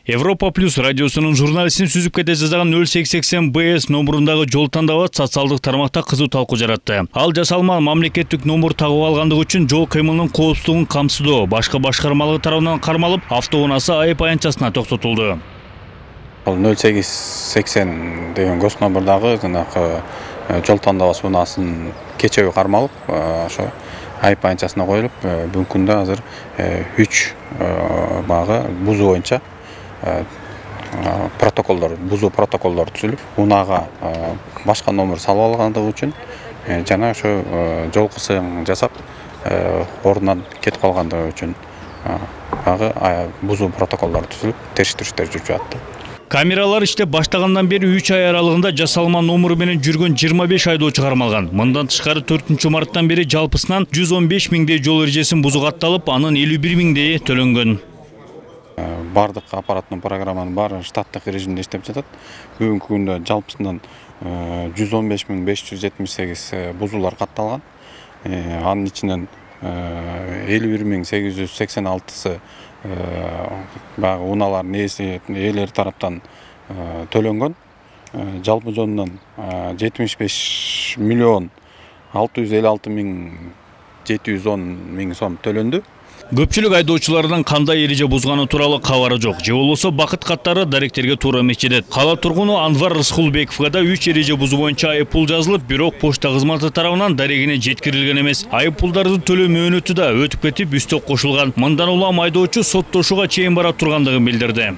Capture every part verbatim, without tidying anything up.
Европа плюс радиосунун журналистин сүзүп кете жазган нөл сегиз сексен бэ эс номурундагы жол тандабы социалдык тармакта кызуу талкуу жаратты. Ал жасалма мамлекеттик номур тагып алгандыгы үчүн жол кыймылынын коопсуздугун камсыздоо башкы башкармалыгы тарабынан кармалып, автоунаасы айып аянтчасына токтотулду. нөл сегиз сексен деген гос номурдагы жанагы жол тандабы унаасын кечеби кармалып, ошо айып аянтчасына коюлуп, бүгүнкү күндө азыр үч багы бузуу боюнча протоколдор, бузуу протоколдор түзүлүп, унаага башка номер салып алгандыгы үчүн жана ошо жол кысым жасап, ордунан кетип калгандыгы үчүн багы бузуу протоколдор түзүлүп, териштирүүдөр жүрүп жатты. Камералар иштеп баштагандан бери үч ай аралыгында жасалма номуру менен жүргөн жыйырма беш айдоочу кармалган. Мындан тышкары төртүнчү марттан бери жалпысынан жүз он беш миңдей жол эрежесин бузуп атталып, анын элүү бир миңдейи төлөнгөн. Бардык аппараттын программанын баары штаттык режимде иштеп жатат. Бүгүнкү күндө жалпысынан жүз он беш миң беш жүз жетимиш сегиз бузуулар катталган. Анын ичинен элүү бир миң сегиз жүз сексен алтысы багы унаалардын ээлери тараптан төлөнгөн. Жалпы жонунан жетимиш беш миллион алты жүз элүү алты миң жети жүз он миң сом төлөндү. Көпчүлүк айдоочулардын кандай эреже бузганы тууралуу кабары жок. Же болбосо бакыт каттары даректерге туура эмес жетет. Кала тургуну Анвар Рыскулбековго да үч эреже бузуу боюнча айып пул жазылып, бирок почта кызматы тарабынан дарегине жеткирилген эмес. Айып пулдарды төлөө мөөнөтү да өтүп кетип, үстөк кошулган. Мындан улам айдоочу соттошууга чейин бара тургандыгын билдирди.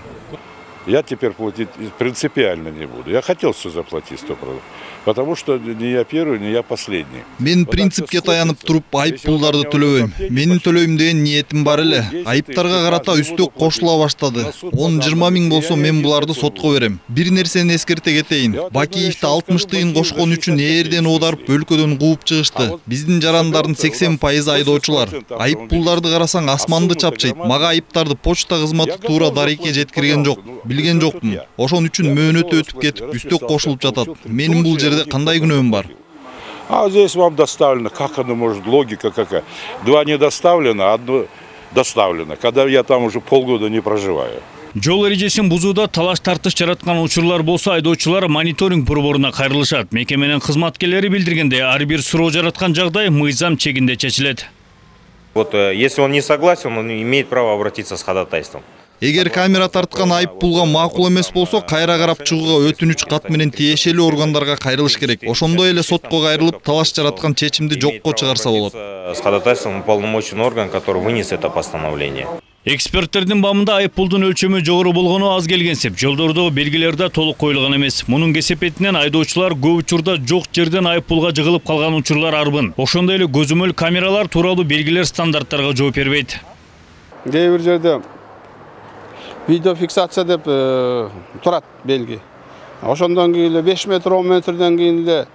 Я теперь платить принципиально не буду. Я хотел все заплатить сто процентов. Потому что не я первый, не я последний. Мен принципке таянып туруп айып пулдарды төлөбөйм. Менин төлөйм деген ниетим бар эле. Айыптарга карата үстөк кошула баштады. он жыйырма миң болсо мен буларды сотко берем. Бир нерсени эскерте кетейин. Бакиевди алтымыш тыйын кошкон үчүн ээрден оодарып өлкөдөн кууп чыгышты. Биздин жарандардын сексен пайызы айдоочулар. Айып пулдарды карасаң асманды чапчайт. Мага айыптарды почта кызматы туура дарекке жеткирген жок. Билген жокмун. Ошон үчүн мөөнөтү өтүп кетип, үстөк кошулуп жатат. Менин бул жерде кандай күнөөм бар? А здесь вам доставлено, как оно может, логика какая? Два не доставлено, одно доставлено, когда я там уже полгода не проживаю. Жол эрежесин бузууда талаш тартыш жараткан учурлар болсо, айдоочулар мониторинг борборуна кайрылышат. Мекеменин кызматкерлери билдиргендей, ар бир суроо жараткан жагдай мыйзам чегинде чечилет. Вот если он не согласен, он имеет право обратиться с ходатайством. Эгер камера тарткан айып пулга макул эмес болсо, кайра карап чыгууга өтүнүч кат менен тиешелүү органдарга кайрылыш керек. Ошондой эле сотко кайрылып, талаш жараткан чечимди жокко чыгарса болот. С ходатайством уполномоченный орган, который вынес это постановление. Эксперттердин бамында айып пулдун өлчөмү жогору болгону аз келгенсип, жолдордогу белгилер да толук коюлган эмес. Мунун кесепетинен айдоочулар көп учурда жок жерден айып пулга жыгылып калган учурлар арбын. Ошондой эле көзөмөл камералар тууралуу белгилер стандарттарга жооп бербейт. Кээ бир жерде видеофиксация деп турат белги. Ошондон кийин эле беш метр он метрден кийин эле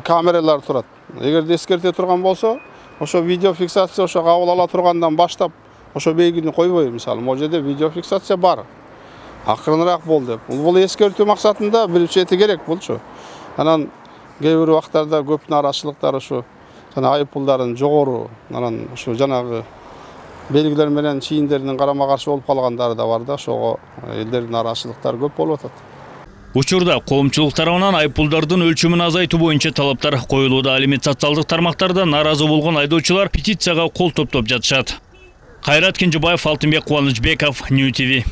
камералар турат. Эгерде эскерте турган болсо, ошо видеофиксация ошо кабыл ала тургандан баштап ошо белгини койбойт. Мисалы, могу жерде видеофиксация бар. Акырыныраак бол деп. Бул эскертүү максатында бир чети керек болчу. Анан кээ бир убактарда көп нараачылыктар ошо жана айып пулдарын жогору, анан ошо жанагы белгилер менен чийиндердин карама каршы болуп калгандары да бар да, ошого элдердин нараачылыктары көп болуп атат. Учурда коомчулук тарабынан айып пулдардын өлчөмүн азайтуу боюнча талаптар коюлууда. Ал эми социалдык тармактарда нааразы болгон айдоочулар петицияга кол топтоп жатышат. Кайрат Кенжебаев, Алтынбек Кубанычбеков, Нью ти ви.